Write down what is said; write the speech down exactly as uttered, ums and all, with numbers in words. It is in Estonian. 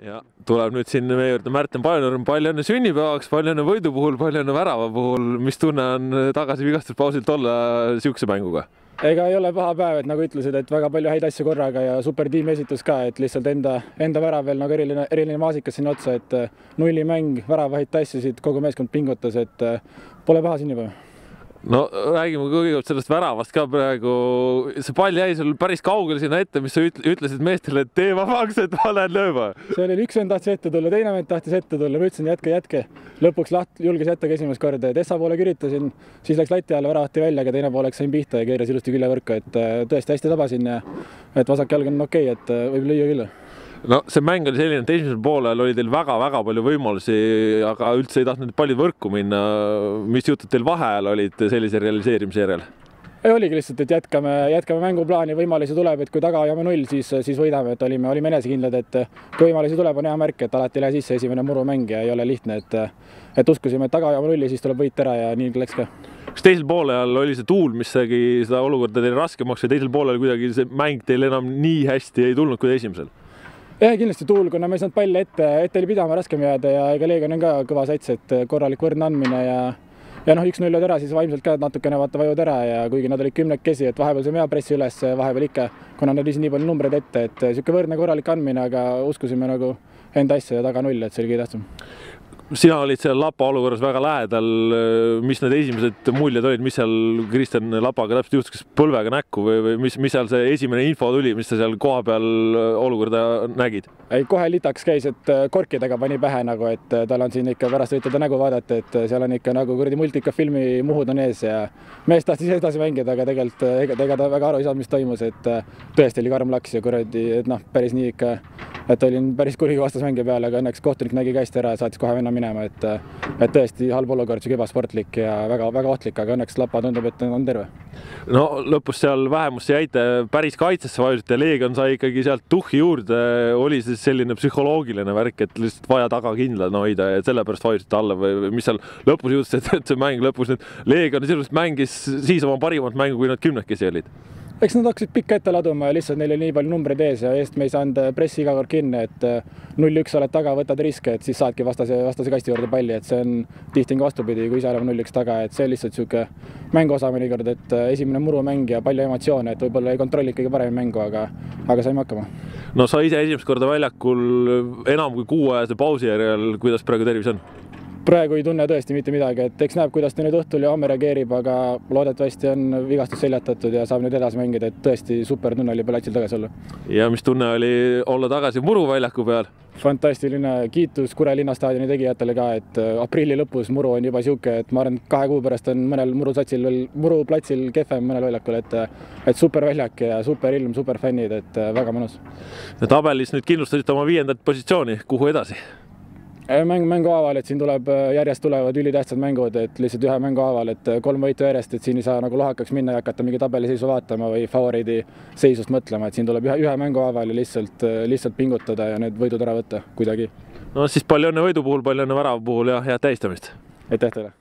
Ja tuleb nüüd siin meie juurde Märten Paljonurm, palju õnne sünnipäevaks, palju õnne võidu puhul, palju õnne värava puhul. Mis tunne on tagasi vigastuspausilt olla siukse mänguga? Ega ei ole paha päev, et nagu ütlesid, et väga palju häid asju korraga ja super tiimi esitus ka, et lihtsalt enda, enda värav veel nagu eriline, eriline maasikas sinna otsa, et nulli mäng, väravahid tassisid, kogu meeskond pingutas, et pole paha sünnipäev. No räägime kõigepealt sellest väravast ka praegu. See pall jäi sul päris kaugel sinna ette, mis sa ütlesid meestele, et tee vabaks, et ma lähen lööma. See oli üks vend tahtis ette tulla, teine vend tahtis ette tulla. Ma ütlesin jätke, jätke. Lõpuks laht, julges jätta esimest korda. Tessa poole kiritasin, siis läks lati alla, väravati välja, aga teine pooleks sain pihta ja keeras ilusti küljevõrka. Et tõesti hästi tabasin ja et vasak jalg on okei, et võib lüüa küll. No see mäng oli selline, et esimesel poolel oli teil väga-väga palju võimalusi, aga üldse ei tahtnud palju võrku minna. Mis jutud teil vahel olid sellise realiseerimise järel? Ei oligi lihtsalt, et jätkame, jätkame mänguplaani, võimalusi tuleb, et kui taga hoiame null, siis, siis võidame, et olime, olime enesekindlad, et kui võimalusi tuleb, on hea märk, et alati ei lähe sisse esimene murumäng ja ei ole lihtne, et, et uskusime, et taga hoiame nulli, siis tuleb võit ära ja nii läks ka. Kas teisel poolel oli see tuul, mis tegi seda olukorda teile raskemaks ja teisel poolel kuidagi see mäng teil enam nii hästi ei tulnud kui esimesel? Jah, kindlasti tuul, kuna me ei saanud palli ette, ette oli pidama raskem jääda ja ega Leegion on ka kõva sats, et korralik võrdne andmine ja ja noh, üks null ära, siis vaimselt ka natukene vaata vajud ära ja kuigi nad olid kümnekesi, et vahepeal see mea pressi üles, vahepeal ikka, kuna nad viisid nii palju numbreid ette, et siuke võrdne korralik andmine, aga uskusime nagu enda asja ja taga null, et see oli kõige tähtsam. Sina olid seal Lapa olukorras väga lähedal. Mis need esimesed muljed olid, mis seal Kristjan Lapaga täpselt juhtus, kas põlvega näkku või, või mis, mis seal see esimene info tuli, mis sa seal koha peal olukorda nägid? Ei, kohe litaks käis, et korkidega pani pähe nagu, et tal on siin ikka pärast võite ta nägu vaadata, et seal on ikka nagu kuradi multikafilmi muhud on ees ja mees tahtis edasi mängida, aga tegelikult ega, ega ta väga aru ei saanud, mis toimus, et tõesti oli karm laks ja kuradi, et noh, päris nii ikka, et olin päris kurigi vastasmängija peale, aga õnneks kohtunik nägi käest ära ja saatis kohe venna minema, et, et tõesti halb olukord, siuke ebasportlik ja väga, väga ohtlik, aga õnneks Lapa tundub, et on terve. No lõpus seal vähemusse jäite, päris kaitsesse vajusite, Leegion sai ikkagi sealt tuhhi juurde, oli siis selline psühholoogiline värk, et lihtsalt vaja taga kindlad hoida ja sellepärast vajusite alla või mis seal lõpus juhtus, et see mäng lõpus nüüd Leegion sisuliselt mängis siis oma parimat mängu, kui nad kümnekesi olid? Eks nad hakkasid pikka ette laduma ja lihtsalt neil oli nii palju numbreid ees ja eest me ei saanud pressi iga kord kinni, et null üks oled taga, võtad riske, et siis saadki vastase, vastase kasti juurde palli, et see on tihti vastupidi, kui ise oleme null üks taga, et see on lihtsalt siuke mänguosa mõnikord, et esimene murumäng ja palju emotsioone, et võib-olla ei kontrolli kõige parem mängu, aga, aga saime hakkama. No sa ise esimest korda väljakul enam kui kuuajase pausi järel, kuidas praegu tervis on? Praegu ei tunne tõesti mitte midagi, et eks näeb, kuidas ta nüüd õhtul ja homme reageerib, aga loodetavasti on vigastus seljatatud ja saab nüüd edasi mängida, et tõesti super tunne oli platsil tagasi olla. Ja mis tunne oli olla tagasi Muru väljaku peal? Fantastiline kiitus Kure linnastaadioni tegijatele ka, et aprilli lõpus Muru on juba siuke, et ma arvan, et kahe kuu pärast on mõnel Muru satsil veel Muru platsil kehvem mõnel väljakul, et, et super väljak ja super ilm, super fännid, et väga mõnus. Tabelis nüüd kindlustasite oma viiendat positsiooni, kuhu edasi? Mäng, mängu haaval, et siin tuleb, järjest tulevad ülitähtsad mängud, et lihtsalt ühe mängu haaval, et kolm võitu järjest, et siin ei saa nagu lohakaks minna ja hakata mingi tabeliseisu vaatama või favoriidi seisust mõtlema, et siin tuleb ühe, ühe mängu haaval ja lihtsalt, lihtsalt pingutada ja need võidud ära võtta kuidagi. No siis palju õnne võidu puhul, palju õnne värava puhul ja head tähistamist! Aitäh teile!